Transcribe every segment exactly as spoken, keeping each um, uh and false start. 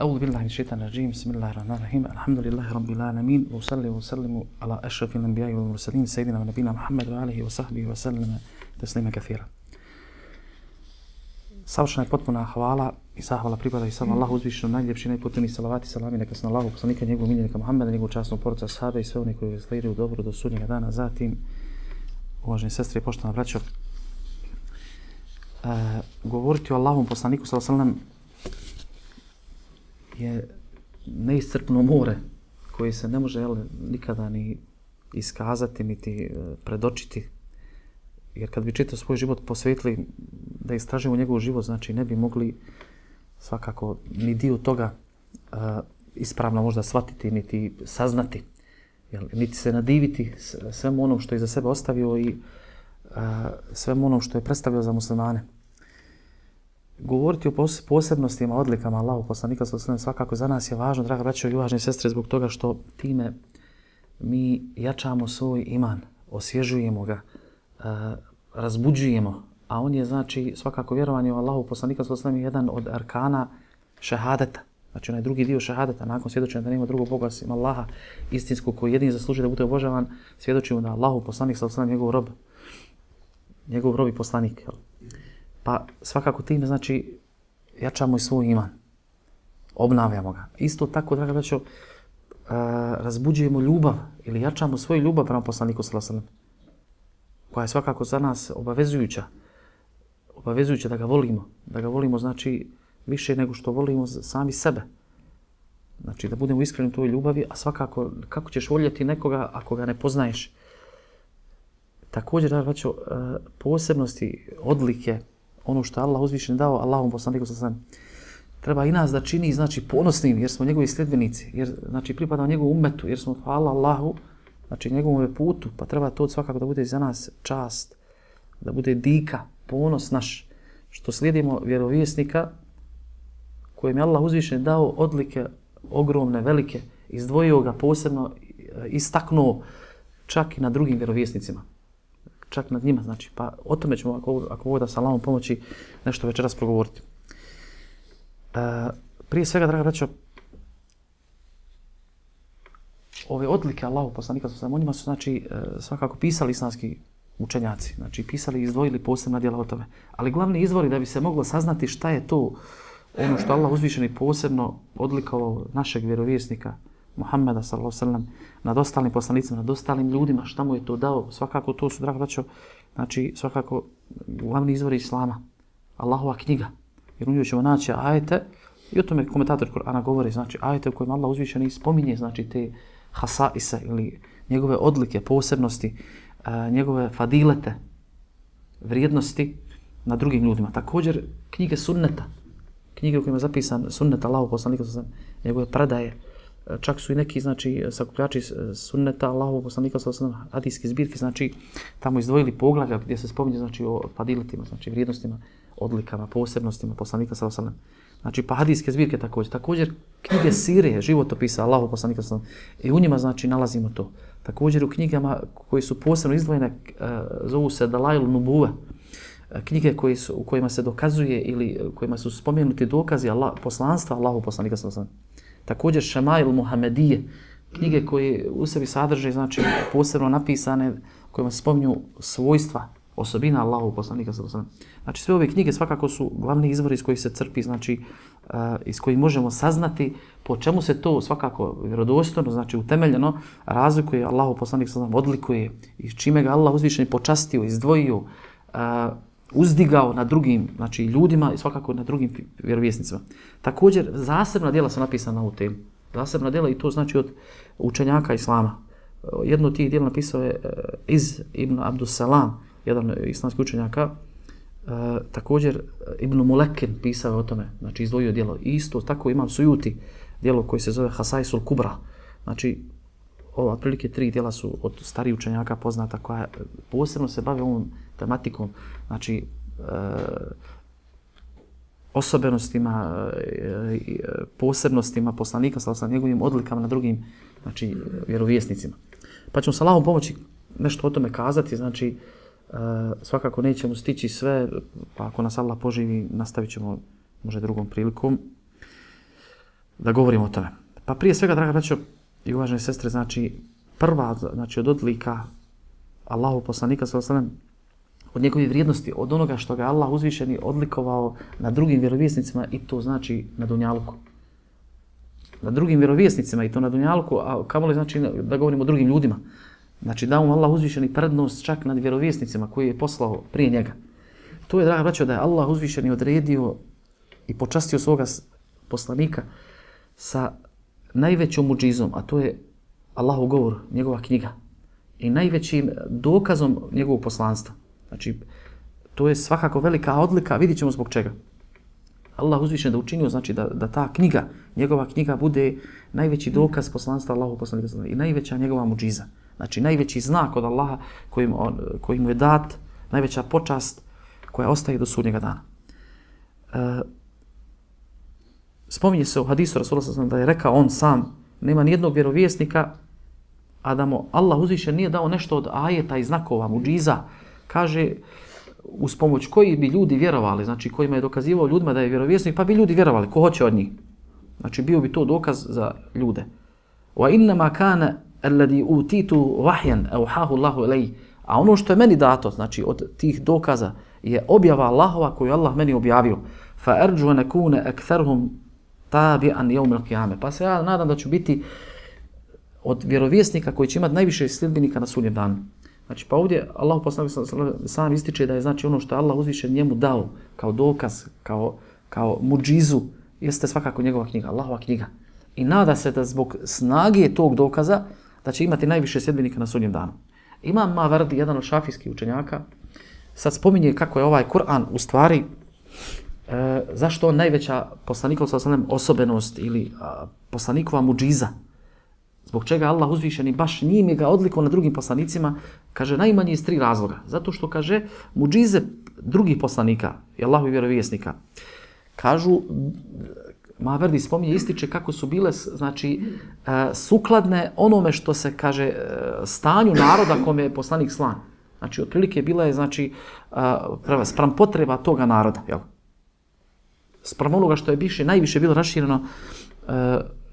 أعوذ بالله من الشيطان الرجيم بسم الله الرحمن الرحيم الحمد لله رب العالمين وصلي وسلم على أشرف الأنبياء والمرسلين سيدنا ونبينا محمد وآله وصحبه وسلم تسليما كثيرا. Savršena je potpuna hvala i zahvala pripada i samo Allahu uzvišenom najljepši najpotpuniji salavati i salami neka se na Allahu poslanika njegovog miljenika Muhammeda, njegovog časnog porodica sahabe i sve oni koji slijeduju dobro do sudnjega dana. Zatim, uvaženi sestre i poštovana braćo, e, govoriti o Allahovom poslaniku sallallahu alejhi ve sellem je neiscrpno more koje se ne može jel, nikada ni iskazati niti predočiti. Jer kad bi čitav svoj život posvetili da istražimo njegov život, znači ne bi mogli svakako ni dio toga uh, ispravno možda shvatiti niti saznati. Jel, niti se nadiviti svemu onom što je za sebe ostavio i uh, svemu onom što je predstavio za muslimane. Govoriti o posebnostima, odlikama Allahu poslanika sallallahu alejhi ve sellem svakako za nas je važno, draga braćo i uvažene sestre, zbog toga što time mi jačamo svoj iman, osvježujemo ga, uh, razbuđujemo, a on je znači svakako vjerovanje u Allahu poslanika sallallahu alejhi ve sellem jedan od arkana šehadeta. Znači onaj drugi dio šehadeta, nakon svjedočenja da nema drugog Boga osim Allaha istinskog koji jedini zaslužuje da bude obožavan, svjedočimo da Allahu poslanik sallallahu alejhi ve sellem njegov rob, njegov rob i poslanik. Jel? Pa svakako time znači jačamo i svoj iman, obnavljamo ga. Isto tako, draga braćo, uh, razbuđujemo ljubav ili jačamo svoju ljubav prema poslaniku sallallahu alejhi ve sellem, koja je svakako za nas obavezujuća, obavezujuća da ga volimo, da ga volimo znači više nego što volimo sami sebe. Znači da budemo iskreni u toj ljubavi, a svakako kako ćeš voljeti nekoga ako ga ne poznaješ. Također, da braćo, posebnosti, odlike, ono što je Allah uzvišen dao Allahom poslaniku sallallahu alejhi ve sellem, treba i nas da čini znači ponosnim jer smo njegovi sljedbenici, jer znači pripadamo njegovom ummetu, jer smo hvala Allahu, znači njegovom putu, pa treba to svakako da bude za nas čast, da bude dika, ponos naš, što slijedimo vjerovjesnika kojem je Allah uzvišen dao odlike ogromne, velike, izdvojio ga posebno, istaknuo čak i na drugim vjerovjesnicima, čak nad njima, znači, pa o tome ćemo, ako, ako ovo da sa Allahom pomoći, nešto večeras progovoriti. E, prije svega, draga braćo, ove odlike Allahu poslanika sallallahu alejhi ve sellem, o njima su znači svakako pisali islamski učenjaci, znači pisali i izdvojili posebna djela o tome. Ali glavni izvori da bi se moglo saznati šta je to ono što Allah uzvišeni posebno odlikovao našeg vjerovjesnika Muhammeda sallallahu alejhi ve sellem nad ostalim poslanicima, nad ostalim ljudima, šta mu je to dao, svakako to su, draga braćo, znači svakako glavni izvori islama, Allahova knjiga. Jer u njoj ćemo naći ajete i o tome komentator Kur'ana govori, znači ajete u kojima Allah uzvišeni spominje znači te hasaise ili njegove odlike, posebnosti, uh, njegove fadilete, vrijednosti na drugim ljudima. Također knjige sunneta, knjige u kojima je zapisan sunnet Allahu poslanika sallallahu alejhi ve sellem, njegove predaje, čak su i neki znači sakupljači sunneta Allahu poslanika sallallahu alejhi ve sellem, hadijske zbirke, znači tamo izdvojili poglavlja gdje se spominje znači o fadiletima, znači vrijednostima, odlikama, posebnostima poslanika sallallahu alejhi ve sellem. Znači, pa hadijske zbirke također. Također, knjige sire, životopisa Allahu poslanika sallallahu alejhi ve sellem. I u njima, znači, nalazimo to. Također, u knjigama koje su posebno izdvojene, zovu se Dalail Nubuve. Knjige koje su, u kojima se dokazuje ili u kojima su spomenuti dokazi Allah, poslanstva Allahu poslanika sallallahu alejhi ve sellem. Također, Šemail Muhamedije. Knjige koje u sebi sadrže, znači, posebno napisane, kojima se spominju svojstva, osobina Allahu poslanika sallallahu alejhi ve sellem. Znači sve ove knjige svakako su glavni izvori iz kojih se crpi, znači uh, iz kojih možemo saznati po čemu se to svakako vjerodostojno, znači utemeljeno razlikuje Allahu poslanik sallallahu alejhi ve sellem, odlikuje i čime ga Allah uzvišeni počastio, izdvojio, uh, uzdigao na drugim, znači ljudima i svakako na drugim vjerovjesnicima. Također zasebna djela su napisana na ovu temu. Zasebna djela i to znači od učenjaka islama. Jedno od tih djela napisao je uh, Iz ibn Abdus Salam, jedan islamski učenjaka. Uh, također Ibn Mulekin pisao o tome, znači izdvojio djelo. Isto tako Imam Sujuti, djelo koje se zove Hasaisul Kubra. Znači, ova otprilike tri djela su od starijih učenjaka poznata koja posebno se bave ovom tematikom, znači uh, osobenostima, uh, posebnostima poslanika, sa njegovim odlikama na drugim, znači, vjerovjesnicima. Pa ćemo sa Allahom pomoći nešto o tome kazati, znači Uh, svakako nećemo stići sve, pa ako nas Allah poživi, nastavit ćemo možda drugom prilikom. da govorimo o tome. Pa prije svega, draga braćo i uvažene sestre, znači prva, znači od odlika Allahu poslanika sallallahu alejhi ve sellem, od njegove vrijednosti, od onoga što ga Allah uzvišeni odlikovao na drugim vjerovjesnicima, i to znači na dunjaluku. Na drugim vjerovjesnicima i to na dunjaluku, a kamoli znači da govorimo o drugim ljudima. Znači da mu Allah uzvišeni prednost čak nad vjerovjesnicima koji je poslao prije njega. To je, draga braćo, da je Allah uzvišeni odredio i počastio svoga poslanika sa najvećom muđizom, a to je Allahov govor, njegova knjiga. I najvećim dokazom njegovog poslanstva. Znači, to je svakako velika odlika, vidit ćemo zbog čega. Allah uzvišen da učinio, znači da, da ta knjiga, njegova knjiga bude najveći dokaz poslanstva Allahu poslanika i najveća njegova muđiza. Znači, najveći znak od Allaha koji, on, koji mu je dat, najveća počast koja ostaje do sudnjega dana. E, spominje se u hadisu Rasulullah sallallahu alejhi ve sellem da je rekao on sam, nema nijednog vjerovjesnika, a da mu Allah uzvišen nije dao nešto od ajeta i znakova, muđiza, kaže, uz pomoć koji bi ljudi vjerovali, znači kojima je dokazivao ljudima da je vjerovjesnik, pa bi ljudi vjerovali, ko hoće od njih. Znači bio bi to dokaz za ljude. Wa innama kana alladhi utitu wahyan awhahu Allahu ilayhi. A ono što je meni dato, znači od tih dokaza, je objava Allahova koju Allah meni objavio. Fa arju an akuna aktharuhum tabi'an yawm al-qiyamah. Pa se ja nadam da ću biti od vjerovjesnika koji će imati najviše sljedbenika na sudnjem danu. Znači, pa ovdje Allah poslanik sam ističe da je znači ono što Allah uzvišen njemu dao kao dokaz, kao, kao muđizu, jeste svakako njegova knjiga, Allahova knjiga. I nada se da zbog snage tog dokaza da će imati najviše sljedbenika na sudnjem danu. Imam Mavardi, jedan od šafijskih učenjaka, sad spominje kako je ovaj Kur'an u stvari, e, zašto on najveća poslanikova sallallahu osobenost ili a, poslanikova muđiza. Zbog čega Allah uzvišeni baš njime ga odlikao na drugim poslanicima, kaže najmanje iz tri razloga. Zato što kaže muđize drugih poslanika i Allahovi vjerovjesnika. Kažu, Maverdi spominje, ističe kako su bile znači sukladne onome što se kaže stanju naroda kome je poslanik slan. Znači otprilike bila je znači spram potreba toga naroda, jel? Spram onoga što je biše najviše bilo rašireno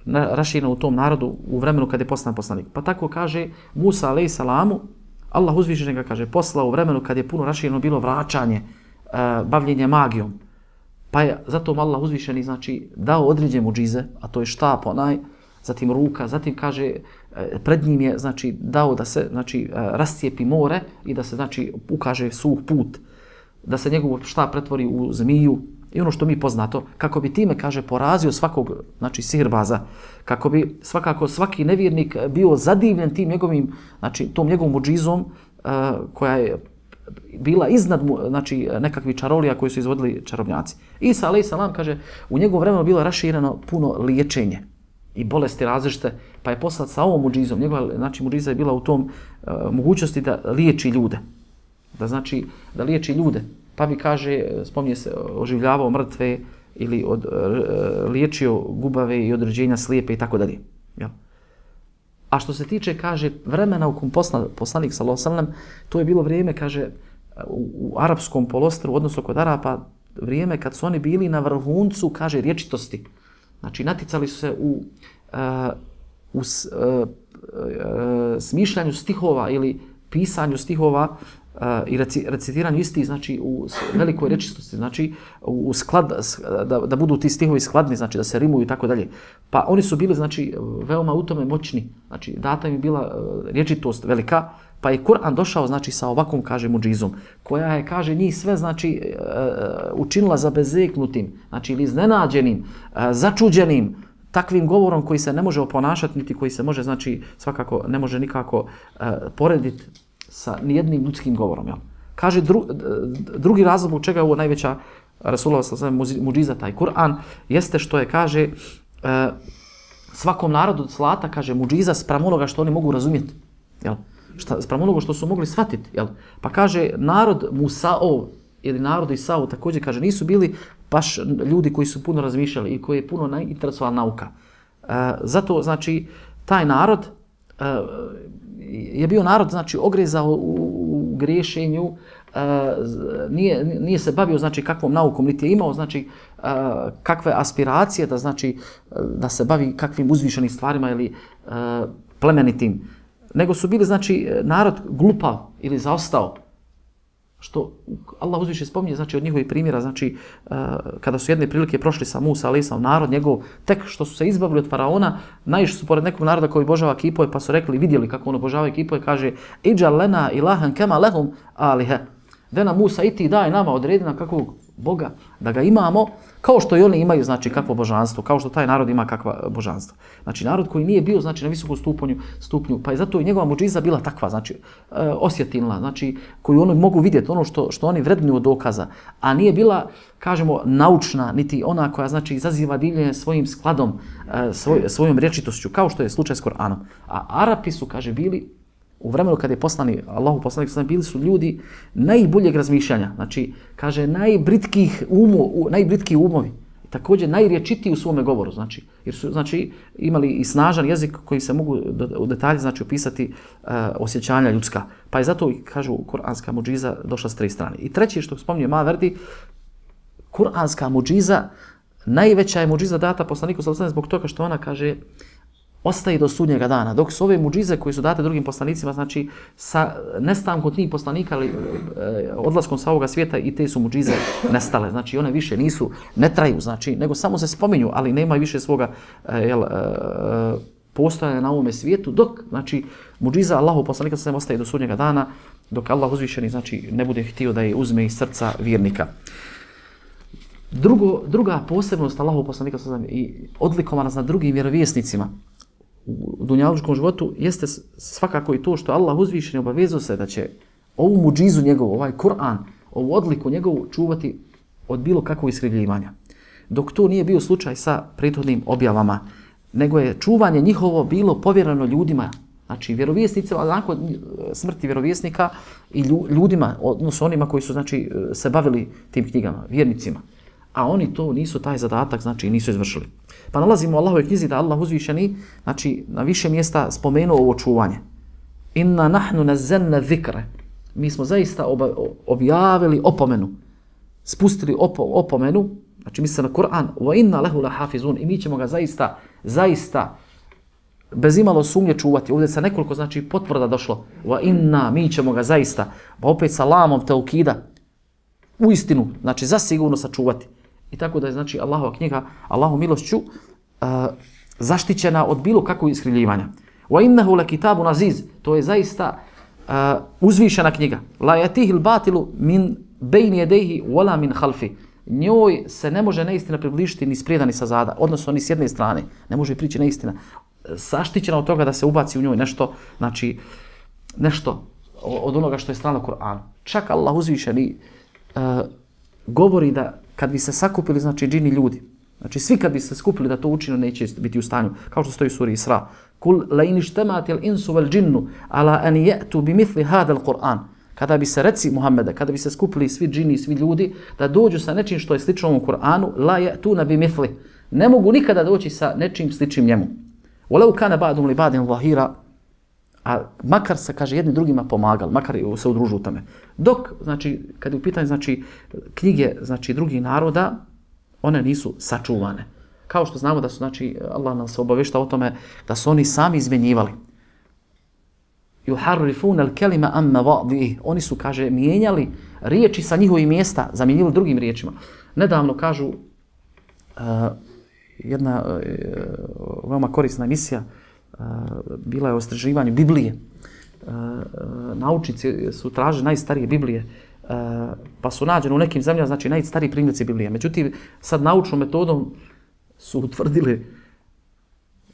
rašireno u tom narodu u vremenu kad je poslan poslanik. Pa tako kaže Musa alejhi salamu, Allah uzvišeni ga kaže poslao u vremenu kad je puno rašireno bilo vraćanje, bavljenje magijom. Pa je zato Allah uzvišeni znači dao određene muđize, a to je štap onaj, zatim ruka, zatim kaže pred njim je znači dao da se znači rascijepi more i da se znači ukaže suh put, da se njegov štap pretvori u zmiju. I ono što mi poznato, kako bi time, kaže, porazio svakog, znači, sihirbaza, kako bi svakako svaki nevjernik bio zadivljen tim njegovim, znači, tom njegovom muđizom, uh, koja je bila iznad, znači, nekakvih čarolija koji su izvodili čarobnjaci. Isa, alejhi salam, kaže, u njegovom vremenu bilo rašireno puno liječenje i bolesti različite, pa je poslat sa ovom muđizom. Njegova, znači, muđiza je bila u tom uh, mogućnosti da liječi ljude. Da, znači, da liječi ljude. Pa bi, kaže, spominje se, oživljavao mrtve ili od, liječio gubave i određenja slijepe i tako dalje. A što se tiče, kaže, vremena u kom posla, poslanik sallallahu alejhi ve sellem, to je bilo vrijeme, kaže, u, u arapskom polostru, odnosno kod Arapa, vrijeme kad su oni bili na vrhuncu, kaže, rječitosti. Znači, naticali su se u, uh, u s, uh, uh, smišljanju stihova ili pisanju stihova, Uh, i recitiranju isti, znači u velikoj rečistosti, znači u sklad, da, da budu ti stihovi skladni, znači da se rimuju i tako dalje. Pa oni su bili, znači, veoma u tome moćni, znači data im je bila uh, rječitost velika, pa je Kur'an došao, znači, sa ovakvom, kaže, muđizom, koja je, kaže, njih sve, znači, uh, učinila zabezeknutim, znači, ili iznenađenim, uh, začuđenim, takvim govorom koji se ne može oponašati, niti koji se može, znači, svakako ne može nikako uh, porediti sa nijednim ljudskim govorom. Jel? Kaže dru, drugi razlog u čega je ovo najveća Rasulullah sallallahu alejhi ve sellem muđiza, taj Kur'an, jeste što je, kaže, e, svakom narodu od slata, kaže, muđiza spram onoga što oni mogu razumjeti. Jel? Šta, spram onoga što su mogli shvatiti. Jel? Pa kaže, narod Musaov ili narod Isao također, kaže, nisu bili baš ljudi koji su puno razmišljali i koji je puno interesovala nauka. E, zato, znači, taj narod e, je bio narod, znači, ogrezao u, u griješenju, nije, nije se bavio znači kakvom naukom, niti je imao znači kakve aspiracije da znači da se bavi kakvim uzvišenim stvarima ili plemenitim, nego su bili znači narod glupav ili zaostao. Što Allah uzviše spominje znači od njihovih primjera, znači kada su jedne prilike prošli sa Musa alejhi selam, narod njegov, tek što su se izbavili od faraona, naišli su pored nekog naroda koji obožava kipove, pa su rekli, vidjeli kako on obožava kipove, kaže idžal lena ilahan kema lehum alihe. Da nam Musa i ti daj nama, odredi nam kakvog Boga da ga imamo, kao što i oni imaju znači kakvo božanstvo, kao što taj narod ima kakva božanstvo. Znači narod koji nije bio znači na visokom stupnju, stupnju, pa je zato i njegova muđiza bila takva, znači e, osjetilna, znači koju oni mogu vidjeti, ono što što oni vrednuju od dokaza, a nije bila, kažemo, naučna, niti ona koja znači izaziva divljenje svojim skladom, e, svoj, svojom rječitošću, kao što je slučaj s Koranom. A Arapi su, kaže, bili u vremenu kad je poslani, Allahu poslanik sallallahu bili su ljudi najboljeg razmišljanja, znači kaže najbritkih umo, najbritkiji umovi, također najriječitiji u svome govoru, znači jer su znači imali i snažan jezik koji se mogu u detalje znači opisati uh, osjećanja ljudska. Pa je zato kažu kuranska muđiza došla s tri strane. I treće što spominje Maverdi, kuranska muđiza najveća je muđiza data poslaniku sallallahu zbog toga što ona kaže ostaje do sudnjega dana, dok su ove muđize koje su date drugim poslanicima, znači sa nestankom tih poslanika ali e, odlaskom sa ovoga svijeta i te su muđize nestale, znači one više nisu, ne traju, znači, nego samo se spominju, ali nema više svoga e, jel, e, postojanja na ovome svijetu, dok, znači, muđiza Allahu poslanika se ostaje do sudnjega dana, dok Allah uzvišeni, znači, ne bude htio da je uzme iz srca vjernika. Drugo, druga posebnost Allahu poslanika i odlikovana nad drugim vjerovjesnicima u dunjalučkom životu jeste svakako i to što Allah uzvišeni obavezao se da će ovu muđizu njegovu, ovaj Kur'an, ovu odliku njegovu čuvati od bilo kakvog iskrivljivanja. Dok to nije bio slučaj sa prethodnim objavama, nego je čuvanje njihovo bilo povjereno ljudima, znači vjerovjesnicima, nakon smrti vjerovjesnika i ljudima, odnosno onima koji su znači se bavili tim knjigama, vjernicima. A oni to nisu, taj zadatak, znači nisu izvršili. Pa nalazimo u Allahovoj knjizi da Allah uzvišeni, znači na više mjesta spomenuo ovo čuvanje. Inna nahnu nazzalna zikra. Mi smo zaista objavili opomenu, spustili op opomenu, znači misli se na Kur'an, wa inna lehu lahafizun, i mi ćemo ga zaista, zaista, bez imalo sumnje čuvati. Ovdje se nekoliko znači potvrda došlo. Wa inna, mi ćemo ga zaista, pa opet sa lamom teukida, u istinu, znači zasigurno sačuvati. I tako da je znači Allahova knjiga, Allahu milošću, uh, zaštićena od bilo kakvog iskrivljivanja. Wa innahu lakitabun aziz, to je zaista uh, uzvišena knjiga. La yatihil batilu min bayni yadayhi wala min khalfi. Njoj se ne može neistina približiti ni sprijeda ni sa zada, odnosno ni s jedne strane. Ne može prići neistina. Zaštićena od toga da se ubaci u njoj nešto, znači nešto od onoga što je strano Kur'anu. Čak Allah uzvišeni uh, govori da kad bi se sakupili, znači džini ljudi, znači svi kad bi se skupili da to učinu, neće biti u stanju, kao što stoji u suri Isra. Kul la in ijtama'atil insu wal jinnu ala an ya'tu bimithli hada al-Qur'an. Kada bi se, reci Muhammede, kada bi se skupili svi džini, svi ljudi, da dođu sa nečim što je slično ovom Kur'anu, la ya'tuna bimithli. Ne mogu nikada doći sa nečim sličnim njemu. Walau kana ba'dum li ba'din zahira, a makar se, kaže, jedni drugima pomagali, makar se udružu u tome. Dok, znači, kad je u pitanju, znači, knjige, znači, drugih naroda, one nisu sačuvane. Kao što znamo da su, znači, Allah nas obavješta o tome da su oni sami izmjenjivali. Yuharrifuna al-kalima an mawadihi. Oni su, kaže, mijenjali riječi sa njihovih mjesta, zamijenili drugim riječima. Nedavno kažu uh, jedna uh, veoma korisna emisija, Uh, bila je o istraživanju Biblije. Uh, uh, naučnici su tražili najstarije Biblije, uh, pa su nađeni u nekim zemljama, znači najstariji primjerci Biblije. Međutim, sad naučnom metodom su utvrdili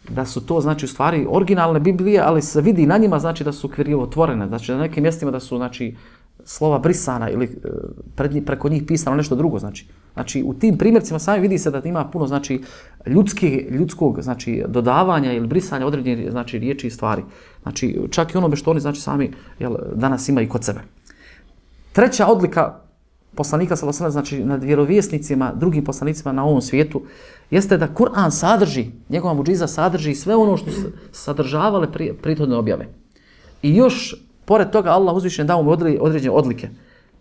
da su to, znači, u stvari originalne Biblije, ali se vidi na njima, znači, da su krivotvorene. Znači, na nekim mjestima da su, znači, slova brisana ili uh, pred, preko njih pisano nešto drugo, znači. Znači, u tim primjercima sami vidi se da ima puno, znači, ljudski, ljudskog, znači, dodavanja ili brisanja određenih, znači, riječi i stvari. Znači, čak i onome što oni, znači, sami, jel, danas imaju kod sebe. Treća odlika poslanika, sallallahu alejhi ve sellem, znači, nad vjerovjesnicima, drugim poslanicima na ovom svijetu, jeste da Kur'an sadrži, njegova muđiza sadrži sve ono što su sadržavale prethodne objave. I još, pored toga, Allah uzvišen dao mu određene odlike.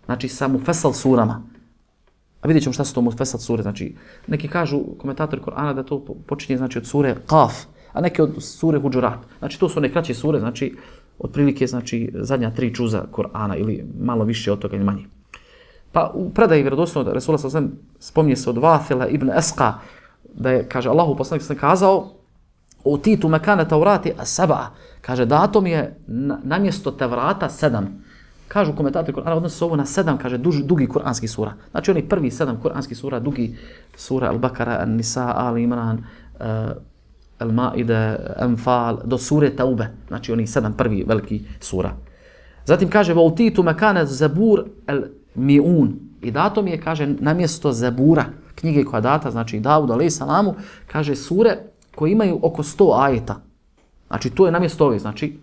znači sa mufesal surama. A vidjet ćemo šta su to mufesal sure. Znači, neki kažu, komentatori Kur'ana, da to počinje znači, od sure Qaf, a neki od sure Huđurat. Znači, to su one kraće sure, znači, otprilike, znači, zadnja tri džuza Kur'ana ili malo više od toga ili manje. Pa u predaji vjerodostojno Resula sallallahu alejhi ve sellem spominje se od Vathila ibn Esqa, da je, kaže, Allahu poslanik sam kazao, u titu mekane taurati as-sab'a, kaže, dato mi je na, namjesto Tevrata sedam. Kažu komentatori Kur'ana, odnosi se ovo na sedam, kaže, duži, dugi kuranski sura. Znači, oni prvi sedam kuranskih sura, dugi sura Al-Bakara, An-Nisa, Ali Imran, uh, Al-Ma'ide, Anfal, do sure Taube. Znači, oni sedam prvi veliki sura. Zatim kaže, u titu mekane zabur al-mi'un. I dato mi je, kaže, namjesto Zabura, knjige koja data, znači Davud alejhi salamu, kaže sure koje imaju oko sto ajeta. Znači to je namjesto ove, znači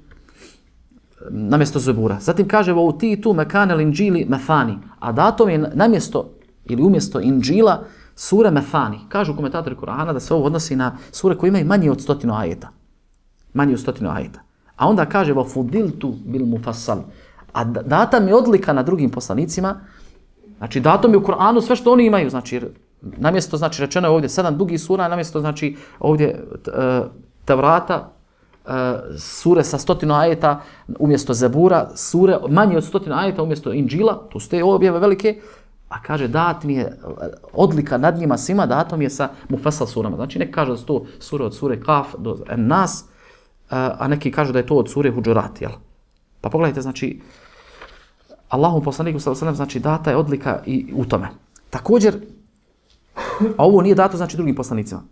namjesto Zabura. Zatim kaže u titu mekane al-inđili methani. A dato mi je namjesto ili umjesto Inđila sure methani. Kažu komentatori Kur'ana da se ovo odnosi na sure koje imaju manje od stotinu ajeta. Manje od stotinu ajeta. A onda kaže va fudiltu bil mufassal. A data mi odlika na drugim poslanicima. Znači dato mi u Kur'anu sve što oni imaju, znači namjesto znači rečeno je ovdje sedam dugih sura, namjesto znači ovdje Tevrata, sure sa stotinu ajeta umjesto Zabura, sure manje od stotinu ajeta umjesto Inđila, tu su te objave velike, a kaže dat mi je odlika nad njima svima, dato mi je sa mufassal surama. Znači neki kažu da su to sure od sure Kaf do Nas, a neki kažu da je to od sure Huđurat, jel? Pa pogledajte, znači Allahom poslaniku sallallahu alejhi ve sellem znači data je odlika i u tome. Također, a ovo nije dato znači drugim poslanicima.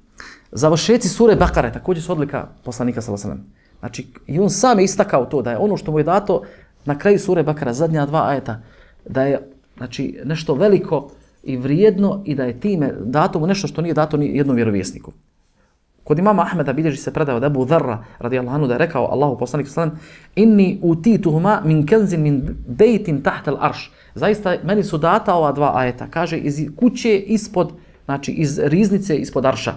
Završeci sure Bakare također su odlika poslanika sallallahu alejhi ve sellem. Znači i on sam je istakao to da je ono što mu je dato na kraju sure Bakara, zadnja dva ajeta, da je znači nešto veliko i vrijedno i da je time dato mu nešto što nije dato ni jednom vjerovjesniku. Kod imama Ahmeda bilježi se predaje od Ebu Dharra radijallahu anhu da je rekao Allahu poslanik sallallahu alejhi ve sellem inni utituhuma min kanzin min bejtin tahta al-arš. Zaista meni su data ova dva ajeta, kaže iz kuće ispod, znači iz riznice ispod arša.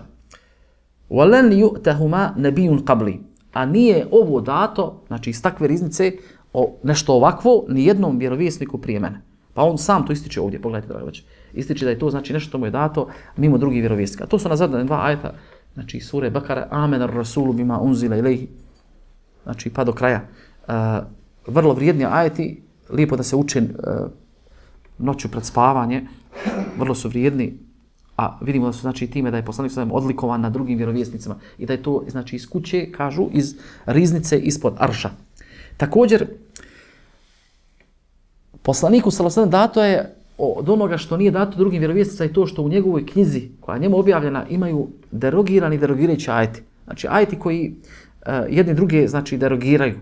Walan yu'tahuma nabiyyun qabli. A nije ovo dato, znači iz takve riznice o nešto ovakvo ni jednom vjerovjesniku prije mene. Pa on sam to ističe ovdje, pogledajte da već. Ističe da je to znači nešto mu je dato mimo drugih vjerovjesnika. To su nazadne dva ajeta. Znači sure Bakara, Amen ar-Rasulu bima unzila ilayhi. Znači pa do kraja. Uh, vrlo vrijedni ajeti, lijepo da se uče uh, noću pred spavanje. Vrlo su vrijedni, a vidimo da su znači time da je poslanik sallallahu alejhi ve sellem odlikovan na drugim vjerovjesnicima i da je to znači iz kuće, kažu, iz riznice ispod arša. Također poslaniku sallallahu alejhi ve sellem dato je od onoga što nije dato drugim vjerovjesnicima i to što u njegovoj knjizi koja je njemu objavljena imaju derogirani derogirajući ajeti. Znači ajeti koji uh, jedni druge znači derogiraju.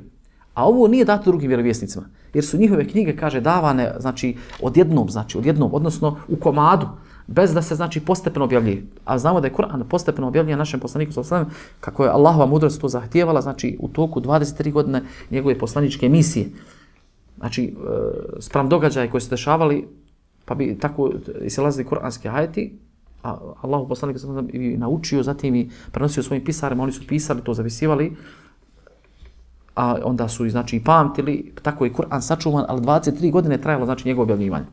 A ovo nije dato drugim vjerovjesnicima jer su njihove knjige kaže davane znači odjednom, znači odjednom, odnosno u komadu bez da se znači postepeno objavljuje. A znamo da je Kur'an postepeno objavljen našem poslaniku sallallahu alejhi ve sellem kako je Allahova mudrost to zahtijevala, znači u toku dvadeset tri godine njegove poslaničke misije. Znači uh, spram događaja koji se dešavali pa bi tako isilazili kuranski ajeti, a Allahu poslanik sallallahu alejhi ve sellem i naučio, zatim i prenosio svojim pisarima, oni su pisali, to zapisivali, a onda su znači i pamtili, tako je Kur'an sačuvan, ali dvadeset tri godine trajalo znači njegovo objavljivanje.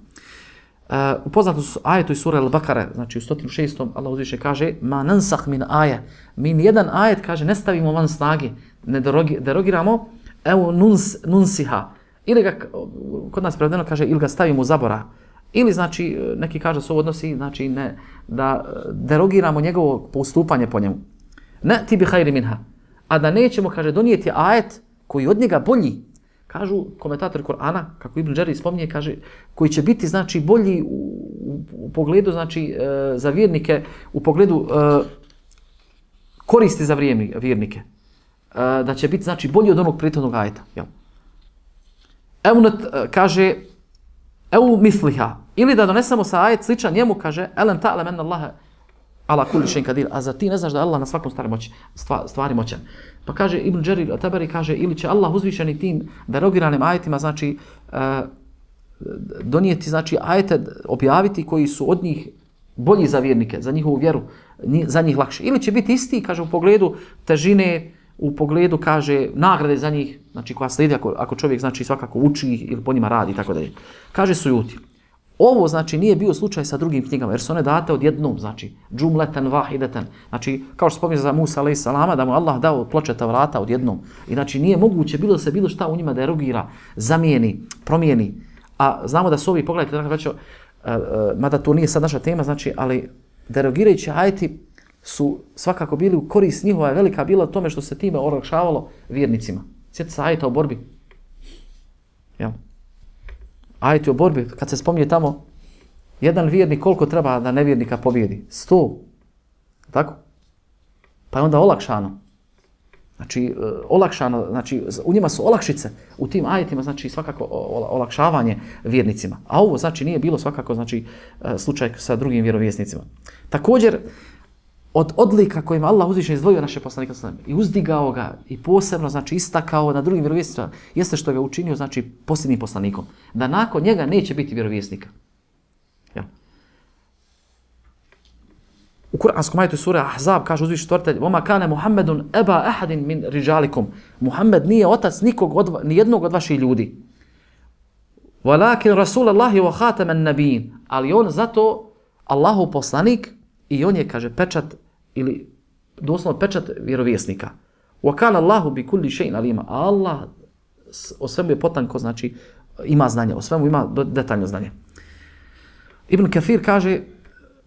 Uh, upoznato su ajetu iz sure Al-Bakara, znači u sto šestom Allah uzviše kaže ma nansah min aja, mi nijedan ajet kaže ne stavimo van snage, ne derogi, derogiramo, evo nuns, nunsiha, ili ga, kod nas prevedeno kaže ili ga stavimo u zabora, ili znači neki kaže se ovo odnosi znači ne, da derogiramo njegovo postupanje po njemu. Ne ti bi hajri minha, a da nećemo kaže donijeti ajet koji od njega bolji. Kažu komentatori Kur'ana, kako Ibn Đarir spominje, kaže koji će biti znači bolji u, u, u pogledu znači e, za vjernike, u pogledu e, koristi za vjernike. E, da će biti znači bolji od onog prethodnog ajeta, jel? Evo kaže evo misliha, ili da donesemo sa ajet sličan njemu, kaže elem ta'lem enna Allaha ala kulli shay'in qadir, a za ti ne znaš da Allah na svakom stvari moći, stvari moćan. Pa kaže Ibn Đarir at-Tabari kaže ili će Allah uzvišeni tim derogiranim ajetima znači uh, donijeti znači ajete objaviti koji su od njih bolji za vjernike, za njihovu vjeru, za njih lakše. Ili će biti isti, kaže u pogledu težine, u pogledu, kaže, nagrade za njih, znači koja slijedi ako, ako čovjek znači svakako uči ili po njima radi i tako dalje. Kaže Sujuti, ovo znači nije bio slučaj sa drugim knjigama, jer su one date odjednom, znači džumleten vahideten, znači kao što spominje za Musa alejhi selama da mu Allah dao ploče Tavrata odjednom. I znači nije moguće bilo da se bilo šta u njima derogira, zamijeni, promijeni. A znamo da su ovi, pogledajte, dakle, uh, uh, mada to nije sad naša tema, znači, ali derogirajući ajeti su svakako bili u korist njihova je velika bila u tome što se time olakšavalo vjernicima. Sjetite se ajeta o borbi. Jel? Ajeti o borbi, kad se spominje tamo, jedan vjernik koliko treba da nevjernika pobjedi? Sto. Tako? Pa je onda olakšano. Znači, olakšano, znači, u njima su olakšice, u tim ajetima, znači, svakako olakšavanje vjernicima. A ovo, znači, nije bilo svakako, znači, slučaj sa drugim vjerovjesnicima. Također, od odlika kojima Allah uzvišen izdvojio naše poslanika i uzdigao ga i posebno, znači, istakao na drugim vjerovjesnicima, jeste što ga učinio, znači, posljednjim poslanikom. Da nakon njega neće biti vjerovjesnika. Ja. U kuranskom ajetu sure Ahzab kaže uzvišeni stvoritelj: "Vama kana Muhammedun aba ahadin min rijalikum." Muhammed nije otac nikog od ni jednog od vaših ljudi. Walakin Rasulullahi wa khataman nabiyyin. Ali on zato Allahov poslanik i on je, kaže, pečat ili doslovno pečat vjerovjesnika. Wa kana Allahu bi kulli shay'in alima. Allah o svemu je potanko, znači ima znanje, o svemu ima detaljno znanje. Ibn Kathir kaže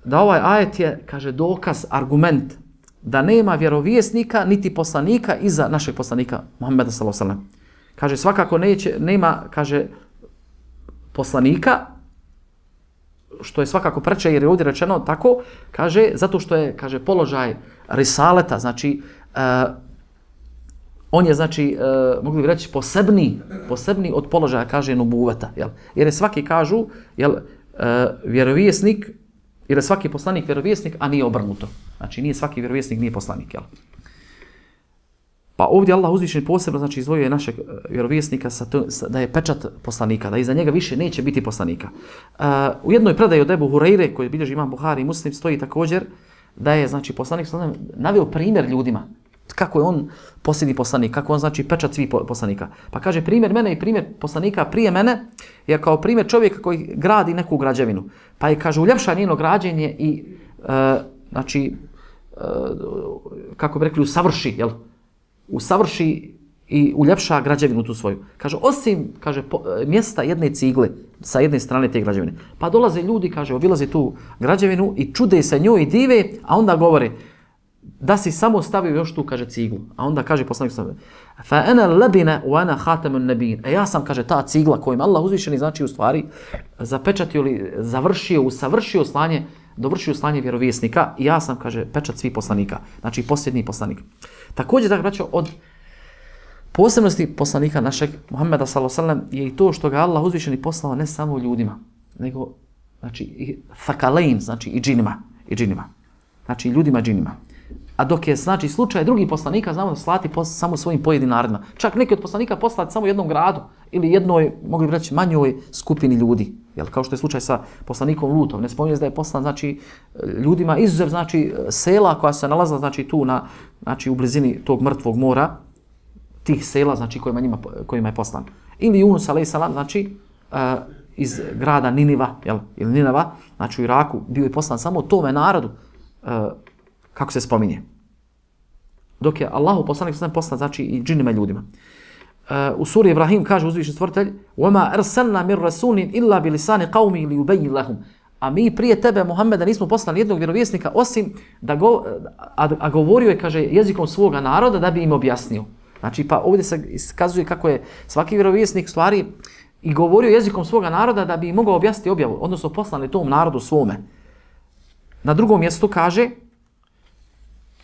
da ovaj ajet je, kaže, dokaz, argument da nema vjerovjesnika niti poslanika iza našeg poslanika Muhammeda sallallahu alejhi ve sellem. Kaže svakako neće, nema, kaže, poslanika, što je svakako preče jer je ovdje rečeno tako, kaže, zato što je, kaže, položaj risaleta, znači, uh, on je, znači, uh, mogli bi reći, posebni, posebni od položaja, kaže, nubuveta, jel? Jer je svaki, kažu, jel, uh, vjerovjesnik, jer je svaki poslanik vjerovjesnik, a nije obrnuto. Znači, nije svaki vjerovjesnik, nije poslanik, jel? Pa ovdje Allah uzvišen posebno, znači, izdvojio je našeg vjerovjesnika sa to, sa, da je pečat poslanika, da iza njega više neće biti poslanika. Uh, u jednoj predaji od Ebu Hureyre, koji bilježi imam Buhari i Muslim, stoji također da je, znači, poslanik naveo primjer ljudima. Kako je on posljednji poslanik, kako on, znači, pečat svih poslanika. Pa kaže, primjer mene i primjer poslanika prije mene je kao primjer čovjeka koji gradi neku građevinu. Pa je, kaže, uljepša njeno građenje i, uh, znači, uh, kako bi rekli, usavrši, jel? Usavrši i uljepša građevinu tu svoju. Kaže, osim, kaže, po, mjesta jedne cigle sa jedne strane te građevine. Pa dolaze ljudi, kaže, obilaze tu građevinu i čude se njoj i dive, a onda govore da si samo stavio još tu, kaže, ciglu. A onda kaže poslanik sallallahu alejhi ve sellem: "Fa ana labina wa ana khatamun nabiyyin." E ja sam, kaže, ta cigla kojim Allah uzvišeni, znači, u stvari zapečatio ili završio, usavršio slanje, dovršio slanje vjerovjesnika i ja sam, kaže, pečat svih poslanika. Znači, posljednji poslanik. Također, dakle, braćo, od posebnosti poslanika našeg Muhammeda sallallahu alejhi ve sellem je i to što ga Allah uzvišeni poslao ne samo ljudima, nego, znači, i thakalein, znači, i džinima, i džinima. Znači, ljudima, džinima. A dok je, znači, slučaj drugih poslanika, znamo da slati pos, samo svojim pojedinim narodima. Čak neki od poslanika poslati samo jednom gradu ili jednoj, mogli bi reći, manjoj skupini ljudi. Jel, kao što je slučaj sa poslanikom Lutom. Ne spominje da je poslan, znači, ljudima izuzev, znači, sela koja se nalazila, znači, tu na, znači, u blizini tog mrtvog mora, tih sela, znači, kojima, njima, kojima je poslan. Ili Yunus alejhi selam, znači, uh, iz grada Niniva, jel, ili Ninava, znači u Iraku, bio je poslan samo tome narodu, uh, kako se spominje. Dok je Allahu poslanik sallallahu poslan, znači, i džinima i ljudima. Uh, u suri Ibrahim kaže uzvišeni stvoritelj: "Wama arsalna min rasulin illa bi lisani qaumi li yubayyin lahum." A mi prije tebe, Muhammeda, nismo poslali jednog vjerovjesnika osim da go, a, a govorio je, kaže, jezikom svoga naroda da bi im objasnio. Znači, pa ovdje se iskazuje kako je svaki vjerovjesnik stvari i govorio jezikom svoga naroda da bi im mogao objasniti objavu, odnosno poslani tom narodu svome. Na drugom mjestu kaže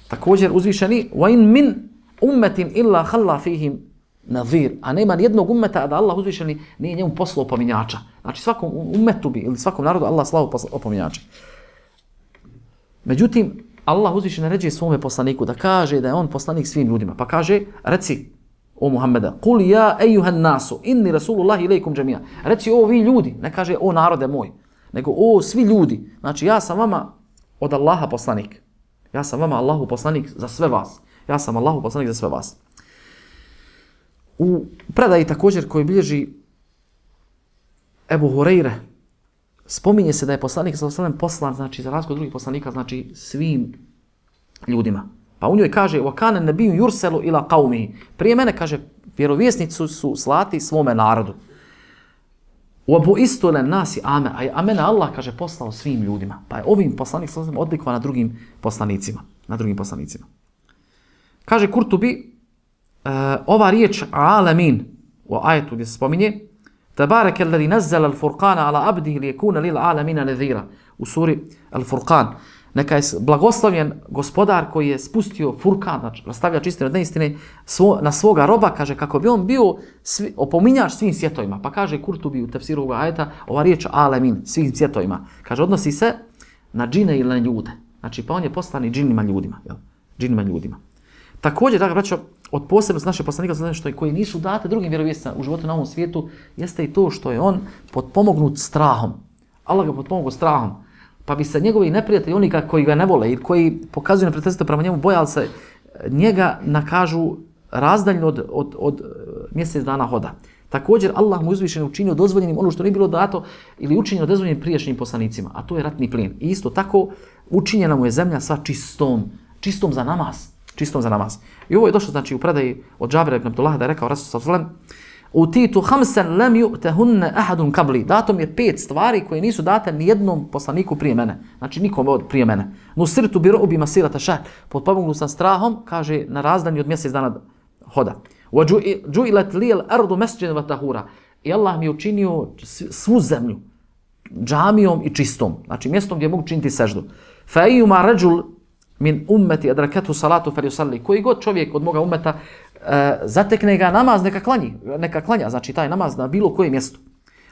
također uzvišeni: "Wa in min ummetin illa khalla fihim nadhir." A nema jednog ummeta da Allah uzvišeni nije njemu poslao opominjača. Znači, svakom ummetu bi ili svakom narodu Allah slao opominjača. Međutim, Allah uzvišeni naređuje svome poslaniku da kaže da je on poslanik svim ljudima. Pa kaže, reci o Muhammeda: "Kul ja ejuhan nasu, inni rasulullahi ilejkum džemija." Reci, o vi ljudi, ne kaže o narode moj, nego o svi ljudi. Znači, ja sam vama od Allaha poslanik. Ja sam vama Allahu poslanik za sve vas. Ja sam Allahu poslanik za sve vas. U predaji također koji bilježi Ebu Hureyre, spominje se da je poslanik sallallahu alejhi ve sellem poslan, znači za razliku od drugih poslanika, znači svim ljudima. Pa u njoj kaže: "Wa kana nabiyyu yurselu ila qaumihi." Prije mene kaže vjerovjesnici su slati svome narodu. "Wa bu'istu lin-nasi ame." A mene Allah kaže poslao svim ljudima. Pa je ovim poslanik sallallahu alejhi ve sellem odlikovan na drugim poslanicima, na drugim poslanicima. Kaže Kurtubi, uh, ova riječ alamin u ajetu gdje se spominje Tabaraka alladhi nazzala al-furqana ala abdihi liyakuna lil alamina nadhira u suri Al-Furqan. Neka je blagoslovljen gospodar koji je spustio Furkan, znači rastavlja čistine od neistine svo, na svoga roba, kaže kako bi on bio svi, opominjač svim svjetovima. Pa kaže Kurtubi u tefsiru ovoga ajeta, ova riječ alamin, svim svjetovima. Kaže, odnosi se na džine ili na ljude. Znači, pa on je poslan i džinima ljudima. Jel? Džinima ljudima. Također, dakle, braćo, od posebnosti naše poslanika znači što koji nisu date drugim vjerovjesnicima u životu na ovom svijetu, jeste i to što je on potpomognut strahom. Allah ga potpomogao strahom. Pa bi se njegovi neprijatelji, oni koji ga ne vole i koji pokazuju neprijateljstvo prema njemu, bojali se njega nakažu razdaljno od, od, od mjesec dana hoda. Također, Allah mu uzvišeno učinio dozvoljenim ono što nije bilo dato ili učinjeno dozvoljenim prijašnjim poslanicima, a to je ratni plijen. I isto tako učinjena mu je zemlja sa čistom, čistom za namaz. Čistom za namaz. I ovo je došlo znači u predaji od Džabira ibn Abdullaha da je rekao Rasul sallallahu alejhi ve sellem: "Utitu khamsan lam yu'tahunna ahadun qabli." Dato mi je pet stvari koje nisu date ni jednom poslaniku prije mene. Znači nikom od prije mene. Nusirtu bi ru'bi masirata shahr. Potpomognut sam strahom, kaže na razdanju od mjesec dana hoda. Wa ju'ilat li al-ardu masjidan wa tahura. I Allah mi je učinio svu zemlju džamijom i čistom. Znači mjestom gdje mogu činiti seždu. Fa ayyuma rajul min ummeti adrakatu salatu falyusalli. Koji god čovjek od moga ummeta e, zatekne ga namaz, neka klanji, neka klanja, znači taj namaz na bilo kojem mjestu.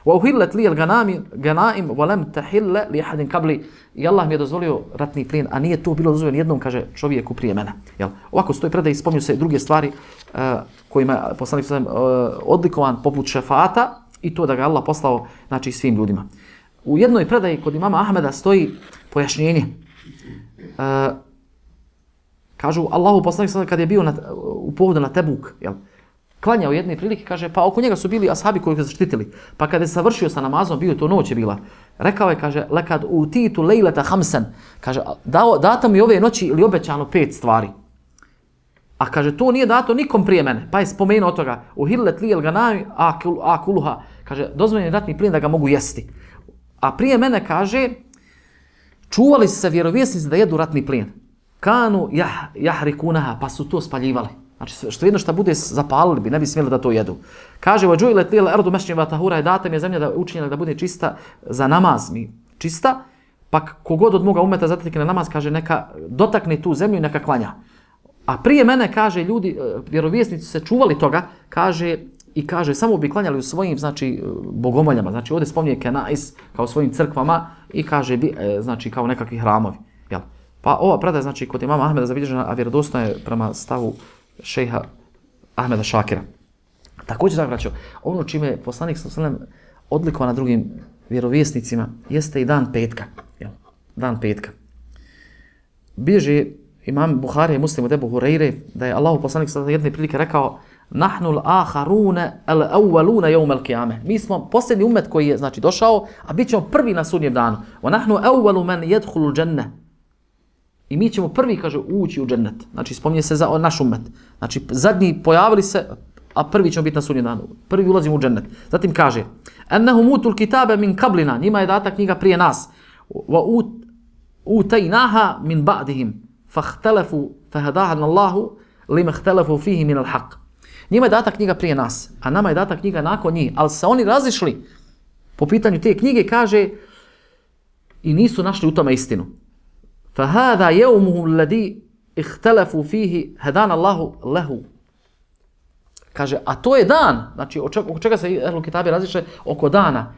Wa uhillat li al-ganaim wa lam tahilla li ahadin qabli. I Allah mi je dozvolio ratni plijen, a nije to bilo dozvoljeno jednom, kaže čovjeku prije mene. Jel? Ovako stoji predaj, spominju se druge stvari e, kojima je poslanik e, odlikovan poput šefata i to da ga Allah poslao znači svim ljudima. U jednoj predaji kod imama Ahmeda stoji pojašnjenje. E, Kažu, Allahu poslanik sallallahu kad je bio na, u pohodu na Tebuk, jel, klanjao jedne prilike, kaže, pa oko njega su bili ashabi koji ga zaštitili. Pa kada je savršio sa namazom, bio to noć je bila. Rekao je, kaže, lekad utitu lejleta hamsan, kaže, dao, dato mi ove noći ili obećano pet stvari. A kaže, to nije dato nikom prije mene. Pa je spomenuo od toga, uhillet li el ganami akuluha, kaže, dozvoljen je ratni plijen da ga mogu jesti. A prije mene, kaže, čuvali se vjerovjesnici da jedu ratni plijen. Kanu jah, jahrikunaha, pa su to spaljivali. Znači, što jedno što bude zapalili bi, ne bi smjeli da to jedu. Kaže, وَجُوِلَتْ لِيَ الْأَرْضُ مَشْنِمَ وَتَهُورَ je data mi je zemlja da učinjena da bude čista za namaz mi. Čista, pa kogod od moga umeta zatekne namaz, kaže, neka dotakne tu zemlju i neka klanja. A prije mene, kaže, ljudi, vjerovjesnici se čuvali toga, kaže, i kaže, samo bi klanjali u svojim, znači, bogomoljama. Znači, ovdje spominje Kenais kao svojim crkvama i kaže, znači, kao nekakvi hramovi. Jel? Pa ova predaja, znači, kod imama Ahmeda zabilježena, a vjerodostojna je prema stavu šejha Ahmeda Šakira. Također, tako braćo, ono čime je poslanik sallallahu alejhi ve sellem odlikovan na drugim vjerovjesnicima jeste i dan petka. Jel? Dan petka. Bilježi imam Buharija i Muslim od Ebu Hureyre da je Allahu poslanik sallallahu alejhi ve sellem jedne prilike rekao: "Nahnu al-akharuna al-awwaluna yawm al-qiyamah." Mi smo posljednji ummet koji je znači došao, a bićemo prvi na sudnjem danu. "Wa nahnu awwalu man yadkhulu al-jannah." I mi ćemo prvi, kaže, ući u džennet. Znači, spominje se za naš ummet. Znači, zadnji pojavili se, a prvi ćemo biti na sudnjem danu. Prvi ulazimo u džennet. Zatim kaže: "Ennahum utul kitabe min qablina." Njima je data knjiga prije nas. "Wa utaynaha min ba'dihim fahtalafu fahadahana Allahu lima ikhtalafu fihi min al-haq." Njima je data knjiga prije nas, a nama je data knjiga nakon njih. Ali se oni razišli po pitanju te knjige, kaže, i nisu našli u tome istinu. فَهَذَا يَوْمُهُ الَّذِي اِخْتَلَفُوا فِيهِ هَدَانَ اللَّهُ لَهُ. Kaže, a to je dan, znači oko čega se Ehlul Kitabi razišle, oko dana.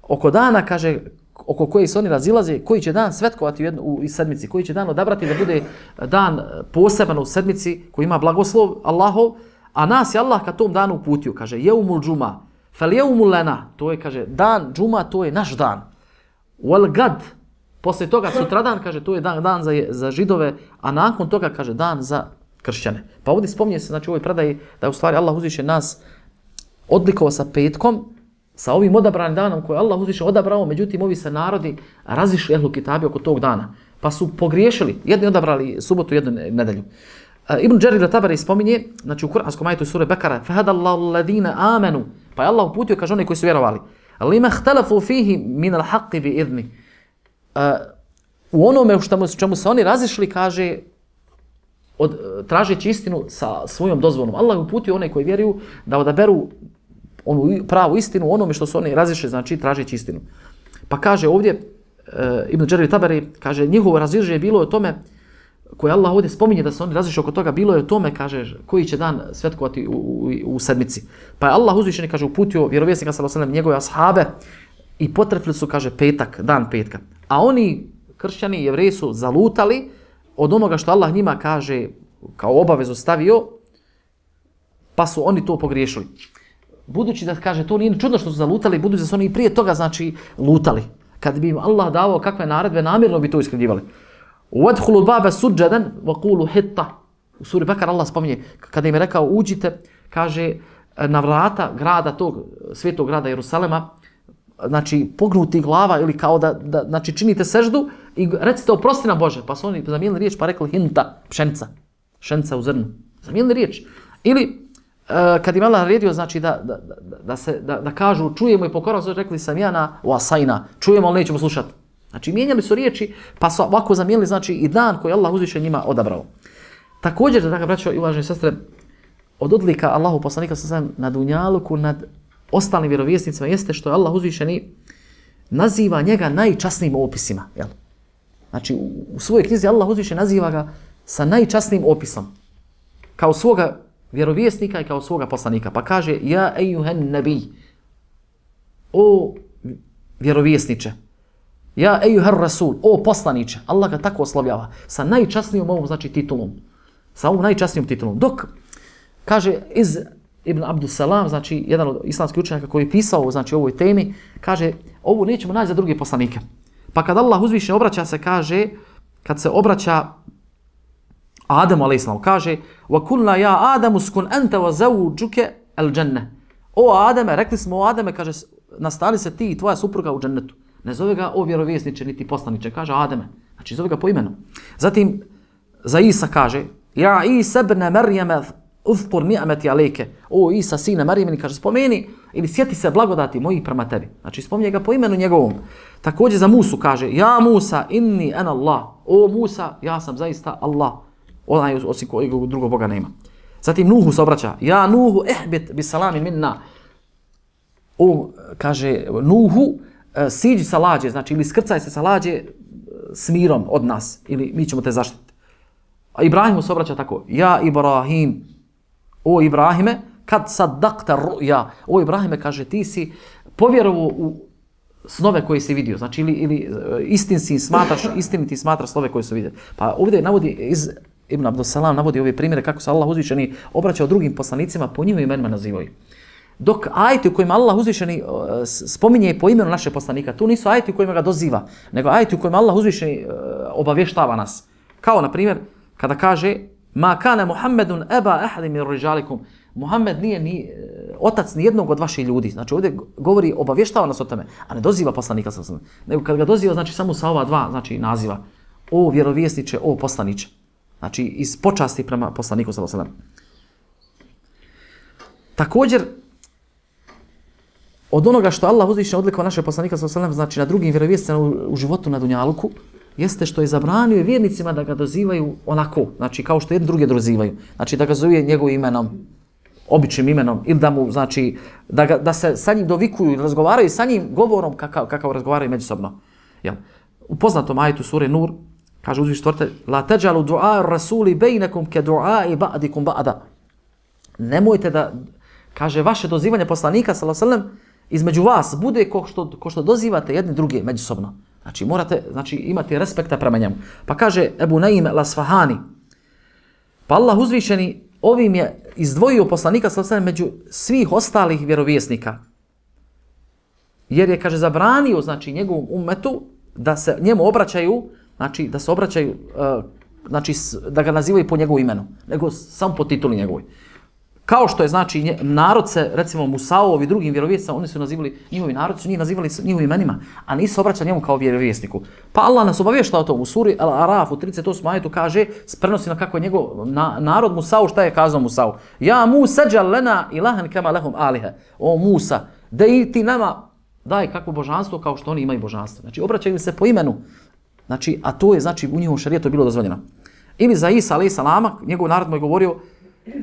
Oko dana, kaže, oko koji se oni razilaze, koji će dan svetkovati u, jednu, u sedmici, koji će dan odabrati da bude dan poseban u sedmici, koji ima blagoslov Allahov, a nas je Allah ka tom danu uputio, kaže, يَوْمُ الْجُمَا فَلْيَوْمُ لَنَا. To je, kaže, dan džuma, to je naš dan. وَالْغَدْ. Poslije toga sutradan, kaže, to je dan, dan za, za židove, a nakon toga, kaže, dan za kršćane. Pa ovdje spominje se, znači u ovoj predaji, da je u stvari Allah uzviše nas odlikovao sa petkom, sa ovim odabranim danom koje Allah uzviše odabrao, međutim ovi se narodi razišli ehlu kitabi oko tog dana. Pa su pogriješili, jedni odabrali subotu, jednu nedelju. Ibn Đerir al-Tabari spominje, znači u kuranskom ajetu sure Bekara, fahadallahu alladhina amanu, pa je Allah uputio, kaže oni koji su vjerovali, lima ihtalafu fihi min al-haqqi bi idni. U onome u čemu se oni razišli, kaže, od, tražeći istinu sa svojom dozvolom. Allah je uputio one koji vjeruju da odaberu onu pravu istinu u onome što su oni razišli, znači tražeći istinu. Pa kaže ovdje, e, Ibn Đerir al-Tabari, kaže, njihovo razilaženje bilo je o tome, koje Allah ovdje spominje da se oni razišli oko toga, bilo je o tome, kaže, koji će dan svetkovati u, u, u sedmici. Pa je Allah uzvišeni, kaže, uputio vjerovjesnika sallallahu alejhi ve sellem, njegove ashabe i potrefili su, kaže, petak, dan petka. A oni, kršćani i jevreji, su zalutali od onoga što Allah njima, kaže, kao obavezu stavio, pa su oni to pogriješili. Budući da, kaže, to nije čudno što su zalutali, budući da su oni i prije toga, znači, lutali. Kad bi im Allah davao kakve naredbe, namjerno bi to iskrivljivali. Wadkhulu al-baba sujadan wa qulu hitta. U suri Bekara Allah spominje, kada im je rekao uđite, kaže, na vrata grada tog, svetog grada Jerusalema, znači pognuti glava ili kao da, da znači činite seždu i recite oprosti nam Bože. Pa su oni zamijenili riječ pa rekli hinta, pšenica, pšenica u zrnu. Zamijenili riječ. Ili uh, kad im Allah naredio, znači da, da, da, da, se, da, da kažu čujemo i pokoramo, su rekli samjana u asajna, čujemo ali nećemo slušati. Znači mijenjali su riječi pa su ovako zamijenili, znači i dan koji Allah uzviše njima odabrao. Također, da ga braćo i uvaženi sestre, od odlika Allahu poslanika sallallahu na dunjaluku nad ostalim vjerovjesnicima jeste što je Allah uzvišeni naziva njega najčasnijim opisima. Jel? Znači u, u svojoj knjizi Allah uzvišeni naziva ga sa najčasnijim opisom. Kao svoga vjerovjesnika i kao svoga poslanika. Pa kaže, ja ejuhen nebi, o vjerovjesniče, ja ejuher rasul, o poslaniče. Allah ga tako oslovljava sa najčasnijom ovom, znači, titulom. Sa ovom najčasnijom titulom. Dok, kaže, iz Ibn Abdus Salam, znači, jedan od islamskih učenjaka koji je pisao, znači, o ovoj temi, kaže, ovo nećemo naći za druge poslanike. Pa kad Allah uzviše obraća se, kaže, kad se obraća Adamu alejhiselam, kaže, wa kulna ja Adamu skun anta wa zawjuka al-janna. O Adame, rekli smo o Adame, kaže, nastali se ti i tvoja supruga u džennetu. Ne zove ga o vjerovjesniče niti poslaniče, kaže Ademe. Znači zove ga po imenu. Zatim za Isa kaže, ja Isa ibn Marijama uzkur ni'mati alejke. O Isa, sine Marijamini, kaže, spomeni ili sjeti se blagodati mojih prema tebi. Znači spominje ga po imenu njegovom. Također za Musu kaže, ja Musa inni ana Allah. O Musa, ja sam zaista Allah. Onaj osim kojeg drugog Boga nema. Zatim Nuhu se obraća, ja Nuhu ihbit bi salami minna. O, kaže Nuhu, siđi sa lađe, znači ili skrcaj se sa lađe s mirom od nas, ili mi ćemo te zaštiti. A Ibrahimu se obraća tako, ja Ibrahim, o Ibrahime, kad saddaqta ru'ya, o Ibrahime, kaže, ti si povjerovao u snove koje si vidio, znači ili, ili istin si smatraš, istiniti smatraš snove koje su vidio. Pa ovdje navodi iz Ibn Abdus Salam navodi ove primjere kako se Allah uzvišeni obraćao drugim poslanicima, po njihovim imenima nazivaju. Dok ajeti u kojima Allah uzvišeni uh, spominje po imenu našeg poslanika, tu nisu ajeti u kojima ga doziva, nego ajeti u kojima Allah uzvišeni uh, obavještava nas. Kao, na primjer, kada kaže ma kana Muhammedun eba ahadim min rijalikum, Muhammed nije ni uh, otac ni jednog od vaših ljudi. Znači ovdje govori, obavještava nas o tome, a ne doziva poslanika sallallahu alejhi ve sellem. Nego kad ga doziva, znači samo sa ova dva, znači naziva, o vjerovjesniče, o poslaniče. Znači iz počasti prema poslaniku sallallahu alejhi ve sellem. Također, od onoga što Allah uzvišeno odlikao naše poslanika sallallahu alejhi ve sellem, znači na drugim vjerovjesnicima u, u životu na dunjaluku, jeste što je zabranio vjernicima da ga dozivaju onako, znači kao što jedni drugi dozivaju. Znači da ga zove njegovim imenom, običnim imenom, ili da mu, znači, da, ga, da se sa njim dovikuju ili razgovaraju sa njim govorom kakav, kakav razgovaraju međusobno. Jel? U poznatom ajetu sure Nur, kaže uzvišeni stvoritelj, la tajalu du'a rasuli bejnekum ke du'a ba'dikum ba'da. Nemojte da, kaže, vaše dozivanje poslanika sallallahu alejhi ve sellem između vas bude ko što, ko što dozivate jedni druge međusobno. Znači morate, znači, imati respekta prema njemu. Pa kaže Ebu Naim al-Asfahani, pa Allah uzvišeni ovim je izdvojio poslanika sallallahu alejhi ve sellem među svih ostalih vjerovjesnika. Jer je, kaže, zabranio, znači, njegovom ummetu da se njemu obraćaju, znači da se obraćaju uh, znači, da ga nazivaju po njegovu imenu, nego samo po tituli njegovoj. Kao što je, znači, nje, narod se, recimo, Musaovi i drugim vjerovjesnicima, oni su nazivali, njihovi narod su njih nazivali njihovim imenima, a nisu obraćali njemu kao vjerovjesniku. Pa Allah nas obavješta o tom u suri Al-Araf u trideset osmom ajetu kaže, prenosi na kako je njegov na, narod Musao, šta je kazao Musao? Ja Musa džal lena ilahan kama lahum alihe. O Musa, daj ti nama, daj kakvo božanstvo kao što oni imaju božanstvo. Znači, obraćaju se po imenu. Znači, a to je, znači, u njihovom šarijetu bilo dozvoljeno. Ili za Isa, alejhi salama, njegov narod mu je govorio,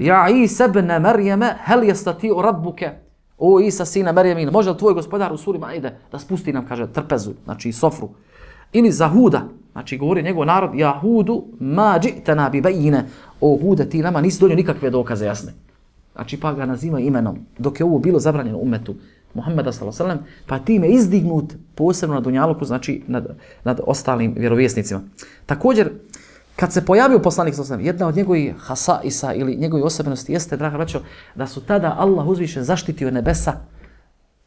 ja Isa ibn Marijeme, hel yastati'u rabbuke, o Isa sina Marijemin, može li tvoj gospodar u suri Maide da spusti nam, kaže, trpezu, znači sofru. Ili za Huda, znači govori njegov narod, ja Hudu ma dži'tana bi bajine, o Hude ti nama nisi donio nikakve dokaze jasne. Znači pa ga naziva imenom, dok je ovo bilo zabranjeno umetu Muhammeda sallallahu alejhi ve sellem, pa time izdignut posebno na dunjaluku, znači nad, nad ostalim vjerovjesnicima. Također, kad se pojavio poslanik sallallahu alejhi ve sellem, jedna od njegovih hasaisa ili njegovih osobenosti jeste, draga braćo, da su tada Allah uzvišen zaštitio nebesa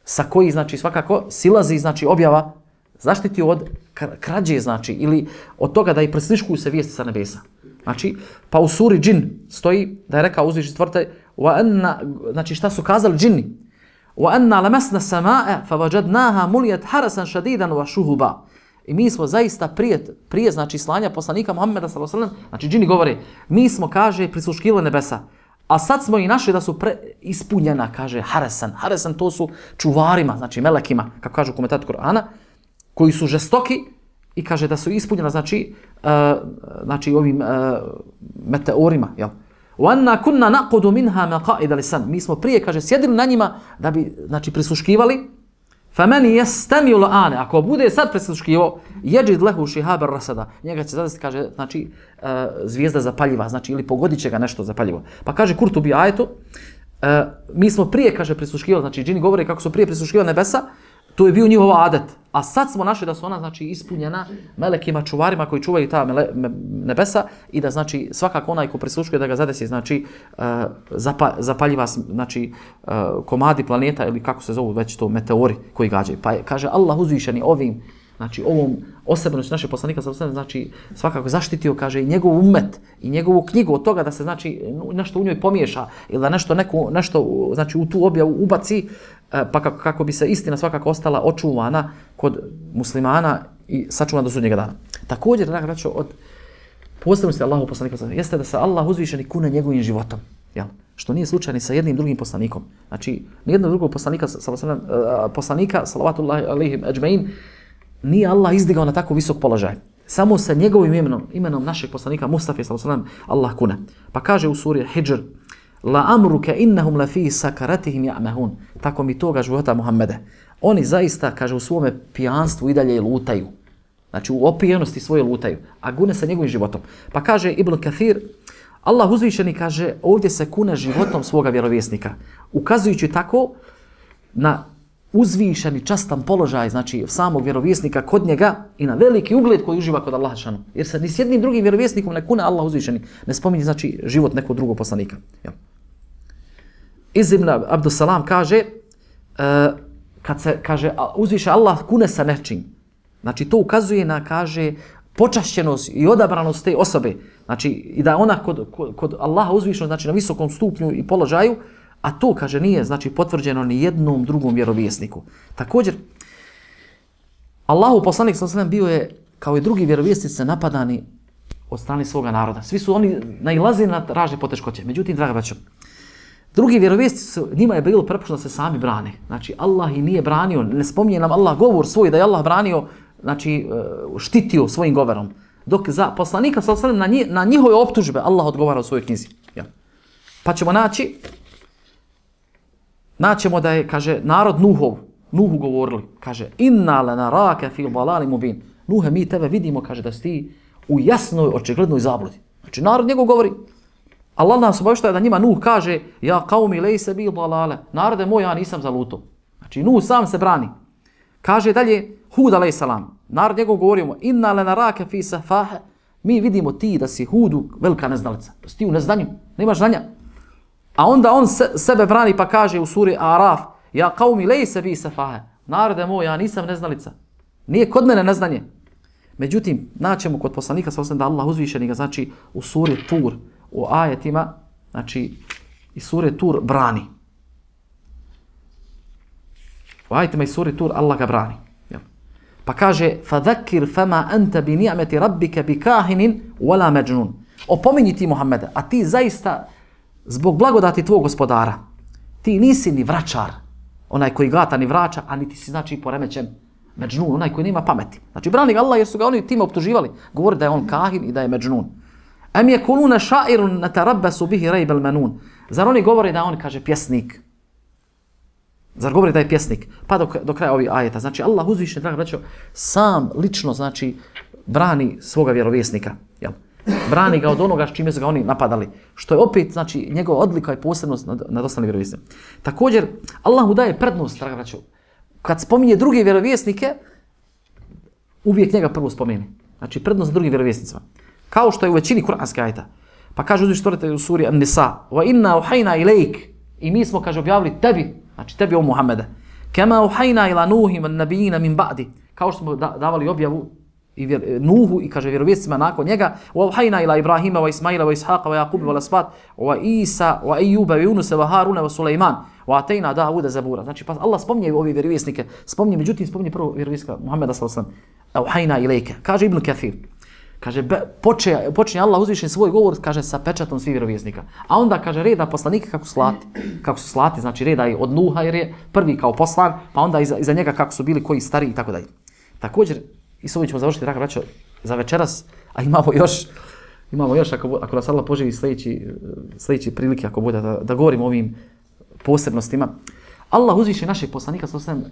sa koji, znači, svakako silazi, znači, objava, zaštitio od krađe, znači, ili od toga da i presliškuju se vijesti sa nebesa. Znači, pa u suri Džin stoji da je rekao uzvišen stvoritelj, znači, šta su kazali džini? وَأَنَّا لَمَسْنَا السَّمَاءَ فَوَجَدْنَاهَا مُلِيَتْ حَرَسًا شَدِيدًا وَشُهُبًا. I mi smo zaista prije, prije znači, slanja poslanika Muhammeda sallallahu alejhi ve sellem, znači džini govore, mi smo, kaže, prisluškivali nebesa, a sad smo i našli da su pre, ispunjena, kaže, haresan. Haresan to su čuvarima, znači melekima, kako kažu komentator Kur'ana, koji su žestoki i kaže da su ispunjena, znači, uh, znači ovim uh, meteorima, jel? وَأَنَّا كُنَّا نَقُدُ مِنْهَا مَقَائِدَ لِسَنْ. Mi smo prije, kaže, sjedili na njima da bi, znači, prisluškivali. فَمَنِ يَسْتَمِيُ الْآنَ. Ako bude sad prisluškivo, يَجِدْ لَهُ شِهَابًا رَصَدًا. Njega će zadesiti, kaže, znači, uh, zvijezda zapaljiva, znači, ili pogodit će ga nešto zapaljivo. Pa kaže Kurtubi ajetu, uh, mi smo prije, kaže, prisluškivali, znači, džini govore kako su prije prisluškivali nebesa, to je bio njihov adet. A sad smo našli da su ona, znači, ispunjena melekima, čuvarima koji čuvaju ta mele, me, nebesa i da, znači, svakako onaj ko prisluškuje da ga zadesi, znači, uh, zapa, zapaljiva, znači, uh, komadi planeta ili kako se zovu već to meteori koji gađaju. Pa je, kaže Allah uzvišeni ovim, znači, ovom osebnosti naše poslanika, znači, svakako zaštitio, kaže, i njegov umet i njegovu knjigu od toga da se, znači, nešto u njoj pomiješa ili da nešto, neko, nešto, znači, u tu objavu ubaci, pa kako, kako bi se istina svakako ostala očuvana kod muslimana i sačuvana do sudnjega dana. Također, draga braćo, od posebnosti Allahu poslanika jeste da se Allah uzvišeni kune njegovim životom, jel? Što nije slučaj ni sa jednim drugim poslanikom. Znači, nijednog drugog poslanika, poslanika, salavatullahi alejhim ejma'in, nije Allah izdigao na tako visok položaj. Samo sa njegovim imenom, imenom našeg poslanika Mustafa sallallahu alejhi ve sellem, Allah kune. Pa kaže u suri Hidžr, la amruka innahum la fi sakaratihim ya'mahun. Tako mi toga života Muhammede. Oni zaista, kaže, u svome pijanstvu i dalje lutaju. Znači, u opijenosti svoje lutaju, a gune sa njegovim životom. Pa kaže Ibn Kathir, Allah uzvišeni, kaže, ovdje se kune životom svoga vjerovjesnika, ukazujući tako na uzvišeni častan položaj, znači samog vjerovjesnika kod njega i na veliki ugled koji uživa kod Allaha šanu. Jer se ni s jednim drugim vjerovjesnikom ne kune Allah uzvišeni, ne spominje, znači, život nekog drugog poslanika. Jel? Iz Ibn Abdussalam kaže, uh, kad se, kaže, uzviše Allah kune sa nečim, znači to ukazuje na, kaže, počašćenost i odabranost te osobe, znači i da ona kod, kod, kod Allaha uzvišeno, znači na visokom stupnju i položaju, a to, kaže, nije, znači, potvrđeno ni jednom drugom vjerovjesniku. Također, Allahu poslanik sallallahu alejhi ve sellem bio je, kao i drugi vjerovjesnici, napadani od strane svoga naroda. Svi su oni nailazili na razne poteškoće. Međutim, draga braćo, drugi vjerovjesnici, njima je bilo prepušteno da se sami brane. Znači, Allah ih nije branio, ne spominje nam Allah govor svoj da je Allah branio, znači, štitio svojim govorom. Dok za poslanika sallallahu alejhi ve sellem na, na njihove optužbe Allah odgovara u svojoj knjizi. Ja. Pa ćemo naći, naćemo da je, kaže, narod Nuhov, Nuhu govorili, kaže, inna lanaraka fi dalalin mubin. Nuhe, mi tebe vidimo, kaže, da si ti u jasnoj, očiglednoj zabludi. Znači, narod njegov govori, Allah nas obavještaje da njima Nuh kaže, ja qaumi laysa bi dalale, narode moj, ja nisam zaluto. Znači, Nuh sam se brani. Kaže dalje, Hud alejhi salam, narod njegov govorimo, inna lanaraka fi safahe, mi vidimo ti da si Hudu velika neznalica, da si ti u neznanju, nemaš znanja. A onda on se, sebe brani pa kaže u suri Araf, ja qaumi laysa bi safahe, narode moj, ja nisam neznalica. Nije kod mene neznanje. Međutim, naćemo kod poslanika sa da Allah uzvišeni ga, znači u suri Tur, u ajetima, znači i sure Tur brani. U ajetima i suri Tur Allah ga brani. Jel? Pa kaže, فَذَكِّرْ فَمَا أَنْتَ بِنِعْمَةِ رَبِّكَ بِكَاهِنٍ وَلَا مَجْنُونَ. Opominji ti Muhammeda, a ti zaista zbog blagodati tvog gospodara, ti nisi ni vračar, onaj koji glata ni vraća, a niti si znači poremećen međnun, onaj koji nema pameti. Znači brani ga Allah jer su ga oni time optuživali. Govori da je on kahin i da je međnun. Am yakuluna sha'irun natarabbasu bihi rayb al-manun. Zar oni govore da on kaže pjesnik? Zar govori da je pjesnik? Pa do, do kraja ovih ajeta. Znači Allah uzvišen, draga braćo, sam lično znači brani svoga vjerovjesnika. Jel? Brani ga od onoga s čime su ga oni napadali. Što je opet znači njegova odlika i posebnost nad, nad ostalim vjerovjesnicima. Također Allah mu daje prednost, draga braćo. Kad spominje druge vjerovjesnike, uvijek njega prvo spomeni. Znači prednost drugim vjerovjesnicima. Kao što je u većini kuranskih ajeta. Pa kaže uzvišeni stvoritelj u suri An-Nisa: "Wa inna uhayna ilayk", i mi smo kaže objavili tebi, znači tebi o Muhammede, "Kama uhayna ila Nuhi wan nabiyina min ba'di", kao što smo da, davali objavu i vjer, Nuhu i kaže vjerovjesnicima nakon njega, "Wa uhayna ila Ibrahima wa Ismaila wa Ishaqa wa Yaquba wa al-asbat wa Isa wa Ayyuba wa Yunusa wa Haruna wa Sulejman wa atayna Davuda zabura." Znači pa Allah spominje ove vjerovjesnike, spominje, međutim spominje prvo vjerovjesnika Muhameda sallallahu alejhi ve sellem. "Uhayna ilayka", kaže Ibn Kathir. Kaže, počinje, počinje Allah uzvišen svoj govor, kaže, sa pečatom svih vjerovjesnika. A onda, kaže, reda poslanika kako slati. Kako su slati, znači reda je od Nuha jer je prvi kao poslan, pa onda iza, iza njega kako su bili koji stari i tako dalje. Također, i s ovim ćemo završiti, draga braćo, za večeras, a imamo još, imamo još, ako, ako nas Allah poživi sljedeći, sljedeći prilike, ako bude, da, da govorimo o ovim posebnostima. Allah uzvišen našeg poslanika, sallallahu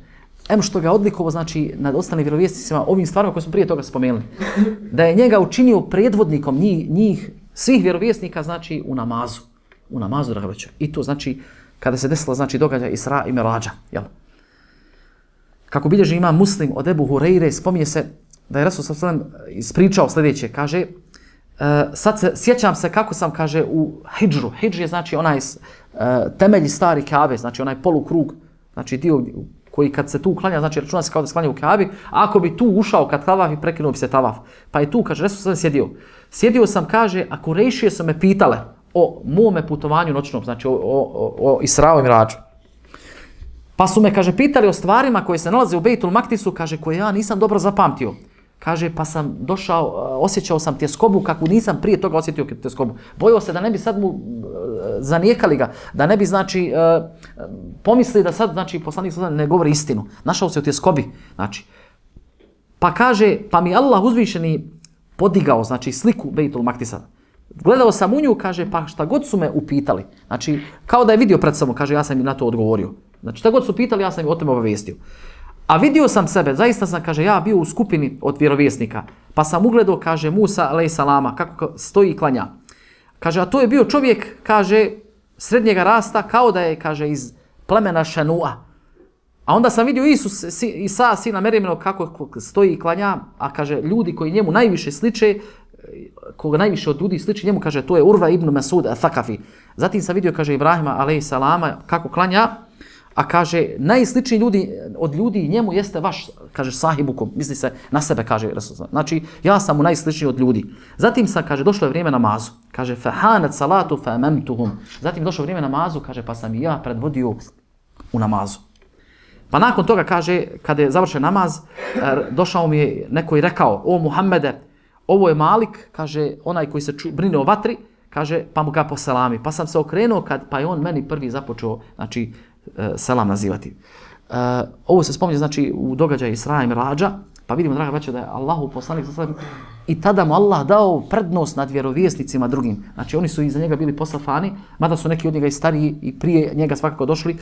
em što ga odlikovo, znači, nad ostalim vjerovjesnicima, ovim stvarima koje smo prije toga spomenuli, da je njega učinio predvodnikom njih, njih svih vjerovjesnika, znači, u namazu. U namazu, draga braćo. I to, znači, kada se desilo, znači, događaj Isra i Mirađa, jel? Kako bilježi ima Muslim od Ebu Hureyre, spominje se da je Rasul sallallahu alejhi ve sellem ispričao sljedeće, kaže, uh, sad se, sjećam se kako sam, kaže, u hidžru. Hidž je, znači, onaj uh, temelji stari Kabe, znači, onaj polukrug, znači, dio koji kad se tu klanja, znači računa se kao da se klanja u Kabi, a ako bi tu ušao kad tavaf i prekinuo bi se tavaf. Pa je tu, kaže, Resul sam sjedio. Sjedio sam, kaže, a Kurejšije su me pitale o mome putovanju noćnom, znači o, o, o Israu i Mirađu. Pa su me, kaže, pitali o stvarima koje se nalaze u Bejtul Maktisu, kaže, koje ja nisam dobro zapamtio. Kaže, pa sam došao, osjećao sam tjeskobu kakvu nisam prije toga osjetio tjeskobu. Bojao se da ne bi sad mu zanijekali ga, da ne bi, znači, pomislili da sad, znači, poslanik ne govori istinu. Našao se u tjeskobi, znači. Pa kaže, pa mi Allah uzvišeni podigao, znači, sliku Bejtul Maktisa. Gledao sam u nju, kaže, pa šta god su me upitali. Znači, kao da je vidio pred sobom, kaže, ja sam im na to odgovorio. Znači, šta god su pitali, ja sam im o tome obavijestio. A vidio sam sebe, zaista sam, kaže, ja bio u skupini od vjerovjesnika, pa sam ugledao, kaže, Musa alejhi salama, kako stoji i klanja. Kaže, a to je bio čovjek, kaže, srednjega rasta, kao da je, kaže, iz plemena Šanua. A onda sam vidio Isus, si, Isa, sina Merjeminog, kako stoji i klanja, a kaže, ljudi koji njemu najviše sliče, koga najviše od ljudi sliči njemu, kaže, to je Urva ibn Masud al-Thakafi. Zatim sam vidio, kaže, Ibrahima alejhi salama, kako klanja, a kaže, najsličniji ljudi od ljudi njemu jeste vaš, kaže, sahibukum, misli se na sebe, kaže Rasul. Znači, ja sam mu najsličniji od ljudi. Zatim sam, kaže, došlo je vrijeme namazu. Kaže, fahanat salatu famamtuhum. Zatim došlo vrijeme namazu, kaže, pa sam i ja predvodio u namazu. Pa nakon toga, kaže, kada je završen namaz, došao mi je neko i rekao, o Muhammede, ovo je Malik, kaže, onaj koji se ču, brine o vatri, kaže, pa mu ga poselami. Pa sam se okrenuo, kad, pa je on meni prvi započeo, znači, selam nazivati. Uh, ovo se spominje, znači, u događaju Isra i Mirađa, pa vidimo, draga braćo, da je Allahu poslanik i tada mu Allah dao prednost nad vjerovjesnicima drugim. Znači, oni su iza njega bili posafani, mada su neki od njega i stariji i prije njega svakako došli,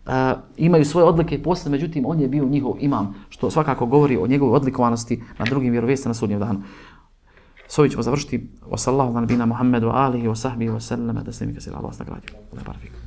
uh, imaju svoje odlike i posle, međutim, on je bio njihov imam, što svakako govori o njegovoj odlikovanosti na drugim vjerovjesnicima na sudnjem danu. S ovim ćemo završiti. Wa sallahu ala nabina Muhammedu alihi wa sahbihi wa sallam, da se mi kasira Allah nagradio.